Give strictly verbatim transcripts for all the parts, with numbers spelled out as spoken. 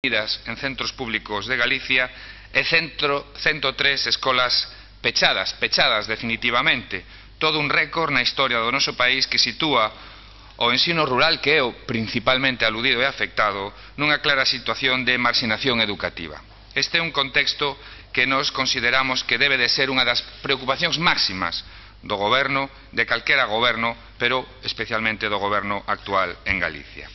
en centros públicos de Galicia e cento tres escolas pechadas, pechadas definitivamente. Todo un récord na historia do noso país que sitúa o ensino rural, que é o principalmente aludido e afectado, nunha clara situación de marxinación educativa. Este é un contexto que nos consideramos que debe de ser unha das preocupacións máximas do goberno, de calquera goberno, pero especialmente do goberno actual en Galicia.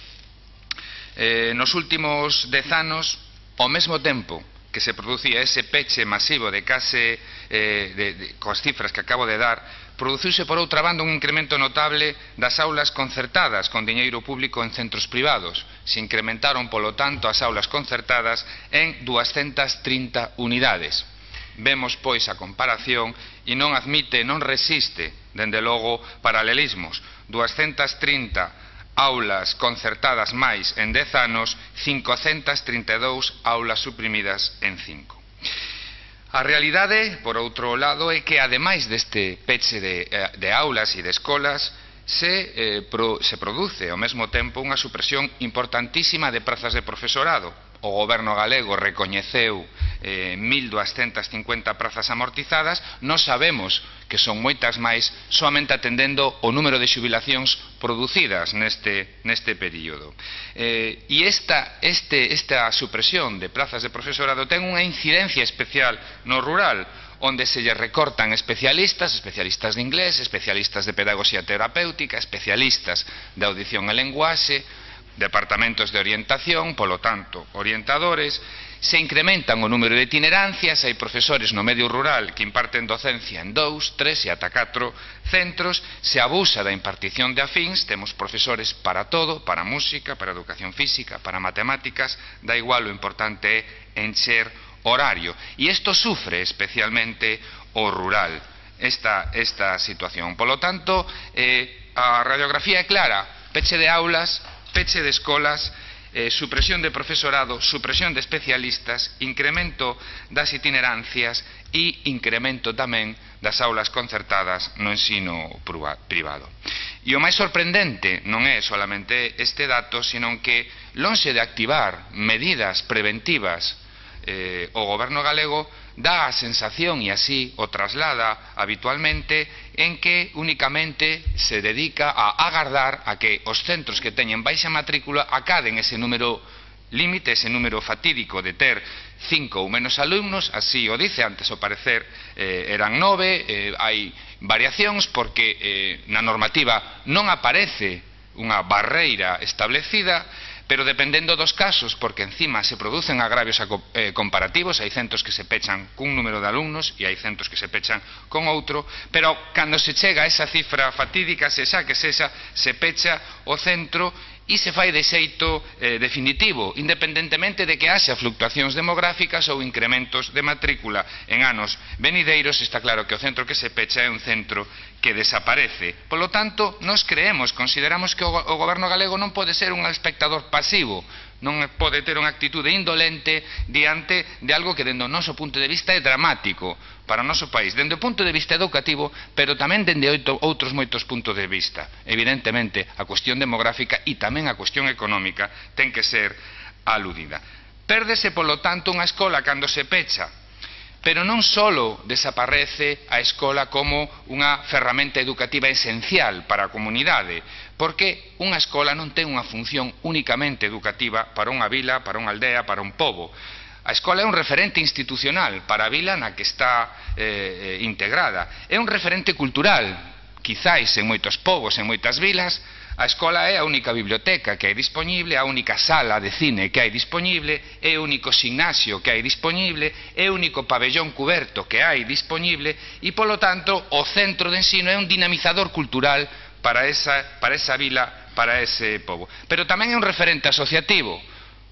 Eh, nos últimos dez anos, ao mesmo tempo que se producía ese peche masivo de case, eh, de, de, coas cifras que acabo de dar, produciuse por outra banda un incremento notable das aulas concertadas con diñeiro público en centros privados. Se incrementaron, polo tanto, as aulas concertadas en duascentas trinta unidades. Vemos, pois, a comparación e non admite, non resiste, dende logo, paralelismos. duascentas trinta aulas concertadas máis en dez anos, cincocentas trinta e dous aulas suprimidas en cinco. A realidade, por outro lado, é que, ademais deste peche de, de aulas e de escolas, se, eh, pro, se produce ao mesmo tempo unha supresión importantísima de prazas de profesorado. O goberno galego recoñeceu eh, mil duascentas cincuenta prazas amortizadas. Nós sabemos que son moitas máis, soamente atendendo o número de xubilacións producidas neste, neste período. Eh, e esta, este, esta supresión de prazas de profesorado ten unha incidencia especial no rural, onde se lle recortan especialistas, especialistas de inglés, especialistas de pedagogía terapéutica, especialistas de audición e lenguaxe, departamentos de orientación, polo tanto, orientadores. Se incrementan o número de itinerancias, hai profesores no medio rural que imparten docencia en dous, tres e ata catro centros, se abusa da impartición de afíns, temos profesores para todo, para música, para educación física, para matemáticas, da igual, o importante é encher horario. E isto sufre especialmente o rural, esta, esta situación. Polo tanto, eh, a radiografía é clara: peche de aulas, peche de escolas, eh, supresión de profesorado, supresión de especialistas, incremento das itinerancias e incremento tamén das aulas concertadas no ensino privado. E o máis sorprendente non é solamente este dato, sino que, lonxe de activar medidas preventivas, eh, o goberno galego dá a sensación, e así o traslada habitualmente, en que únicamente se dedica a agardar a que os centros que teñen baixa matrícula acaden ese número límite, ese número fatídico de ter cinco ou menos alumnos. Así o dice, antes ao parecer eh, eran nove, eh, hai variacións porque eh, na normativa non aparece unha barreira establecida, pero dependendo dos casos, porque encima se producen agravios eh, comparativos, hai centros que se pechan cun número de alumnos e hai centros que se pechan con outro, pero cando se chega a esa cifra fatídica, se xa que sexa, se pecha o centro e se fai de xeito eh, definitivo, independentemente de que haxa fluctuacións demográficas ou incrementos de matrícula en anos venideiros. Está claro que o centro que se pecha é un centro que desaparece. Polo tanto, nós creemos, consideramos que o, o goberno galego non pode ser un espectador pasivo, non pode ter unha actitude indolente diante de algo que, dende o noso punto de vista, é dramático para o noso país, dende o punto de vista educativo, pero tamén dende outros moitos puntos de vista. Evidentemente, a cuestión demográfica e tamén a cuestión económica ten que ser aludida. Pérdese, polo tanto, unha escola cando se pecha, pero non só desaparece a escola como unha ferramenta educativa esencial para a comunidade, porque unha escola non ten unha función únicamente educativa para unha vila, para unha aldea, para un pobo. A escola é un referente institucional para a vila na que está eh, integrada. É un referente cultural, quizáis en moitos povos, en moitas vilas. A escola é a única biblioteca que hai disponible, a única sala de cine que hai disponible, é o único gimnasio que hai disponible, é o único pabellón cuberto que hai disponible e, polo tanto, o centro de ensino é un dinamizador cultural para esa, para esa vila, para ese pobo. Pero tamén é un referente asociativo.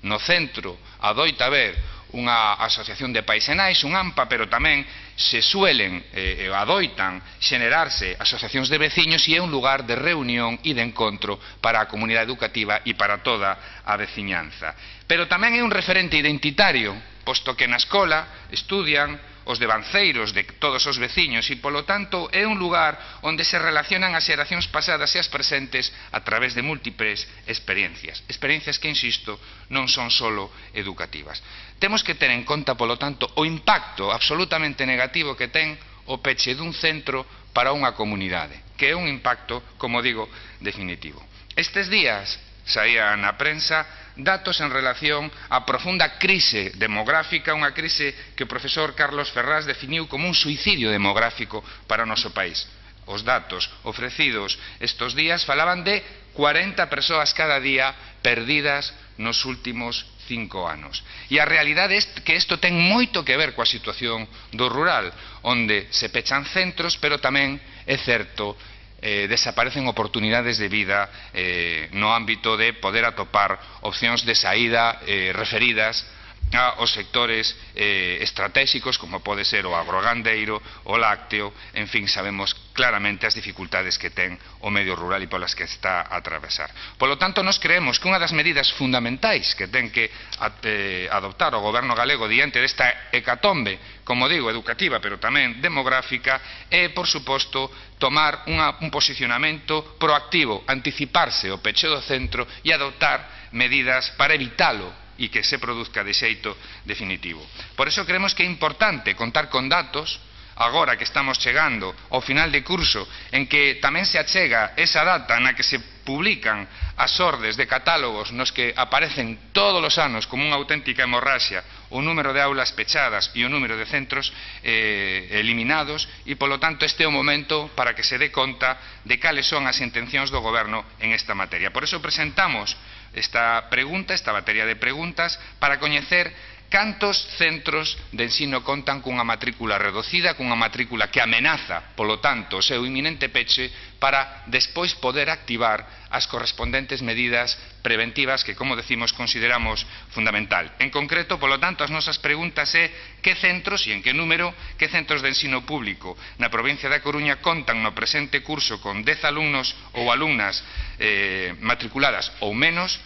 No centro adoita haber unha asociación de paisenais, un AMPA, pero tamén se suelen, eh, adoitan, xenerarse asociacións de veciños e é un lugar de reunión e de encontro para a comunidade educativa e para toda a veciñanza. Pero tamén é un referente identitario, posto que na escola estudian os devanceiros de todos os veciños e, polo tanto, é un lugar onde se relacionan as xeracións pasadas e as presentes a través de múltiples experiencias. Experiencias que, insisto, non son solo educativas. Temos que ter en conta, polo tanto, o impacto absolutamente negativo que ten o peche dun centro para unha comunidade, que é un impacto, como digo, definitivo. Estes días saía na prensa datos en relación á profunda crise demográfica, unha crise que o profesor Carlos Ferraz definiu como un suicidio demográfico para o noso país. Os datos ofrecidos estes días falaban de cuarenta persoas cada día perdidas nos últimos cinco anos. E a realidade é que isto ten moito que ver coa situación do rural, onde se pechan centros, pero tamén é certo Eh, desaparecen oportunidades de vida eh, no ámbito de poder atopar opcións de saída eh, referidas aos sectores eh, estratégicos, como pode ser o agrogandeiro, o lácteo, en fin, sabemos claramente as dificultades que ten o medio rural e polas que está a atravesar. Polo tanto, nos creemos que unha das medidas fundamentais que ten que eh, adoptar o goberno galego diante desta hecatombe, como digo, educativa, pero tamén demográfica, é, por suposto, tomar unha, un posicionamento proactivo, anticiparse o peche do centro e adoptar medidas para evitalo e que se produzca de xeito definitivo. Por eso creemos que é importante contar con datos, agora que estamos chegando ao final de curso, en que tamén se achega esa data na que se publican as ordes de catálogos nos que aparecen todos os anos como unha auténtica hemorraxia o número de aulas pechadas e o número de centros eh, eliminados, e, polo tanto, este é o momento para que se dé conta de cales son as intencións do goberno en esta materia. Por eso presentamos esta pregunta, esta batería de preguntas, para coñecer cantos centros de ensino contan cunha matrícula reducida, cunha matrícula que amenaza, polo tanto, o seu inminente peche, para despois poder activar as correspondentes medidas preventivas que, como decimos, consideramos fundamental. En concreto, polo tanto, as nosas preguntas é que centros e en que número, que centros de ensino público na provincia da Coruña contan no presente curso con dez alumnos ou alumnas eh, matriculadas ou menos,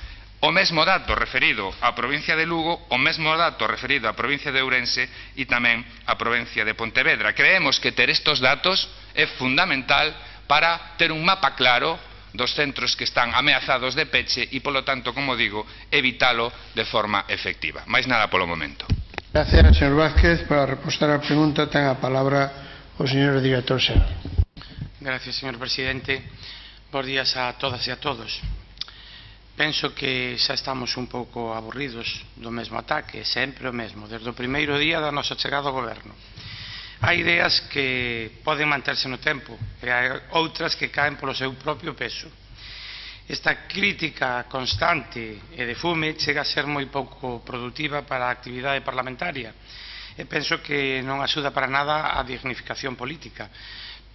o mesmo dato referido á provincia de Lugo, o mesmo dato referido á provincia de Ourense e tamén á provincia de Pontevedra. Creemos que ter estes datos é fundamental para ter un mapa claro dos centros que están ameazados de peche e, polo tanto, como digo, evitalo de forma efectiva. Mais nada polo momento. Gracias, señor Vázquez. Para repostar a pregunta ten a palabra o señor director xeral. Gracias, señor presidente. Bos días a todas e a todos. Penso que xa estamos un pouco aburridos do mesmo ataque, sempre o mesmo, desde o primeiro día da nosa chegada ao goberno. Hai ideas que poden manterse no tempo e hai outras que caen polo seu propio peso. Esta crítica constante e de fume chega a ser moi pouco productiva para a actividade parlamentaria e penso que non axuda para nada a dignificación política.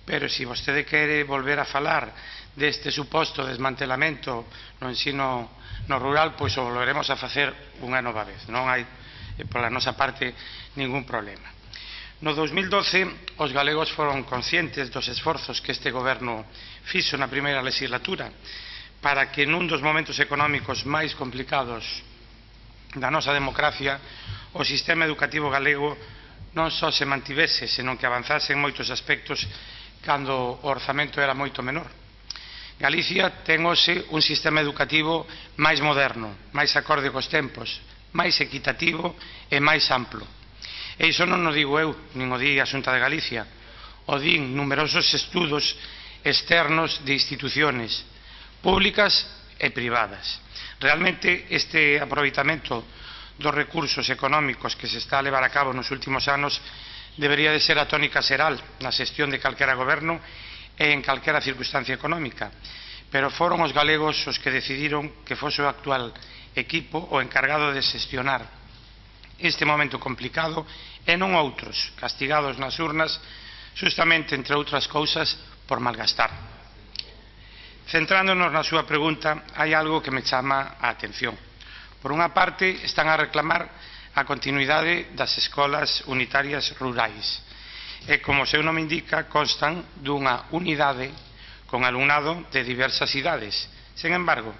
Pero se vostede quere volver a falar deste suposto desmantelamento no ensino no rural, pois o volveremos a facer unha nova vez. Non hai, pola nosa parte, ningún problema. No dos mil doce, os galegos foron conscientes dos esforzos que este goberno fixo na primeira legislatura para que nun dos momentos económicos máis complicados da nosa democracia o sistema educativo galego non só se mantivese, senón que avanzase en moitos aspectos cando o orzamento era moito menor. Galicia ten hoxe un sistema educativo máis moderno, máis acorde cos tempos, máis equitativo e máis amplo. E iso non o digo eu, nin o di a Xunta de Galicia, o din numerosos estudos externos de instituciones públicas e privadas. Realmente este aproveitamento dos recursos económicos que se está a levar a cabo nos últimos anos debería de ser a tónica xeral na xestión de calquera goberno e en calquera circunstancia económica, pero foron os galegos os que decidiron que fose o actual equipo o encargado de xestionar este momento complicado e non outros, castigados nas urnas justamente, entre outras cousas, por malgastar. Centrándonos na súa pregunta, hai algo que me chama a atención. Por unha parte, están a reclamar a continuidade das escolas unitarias rurais e, como o seu nome indica, constan dunha unidade con alumnado de diversas idades. Sen embargo,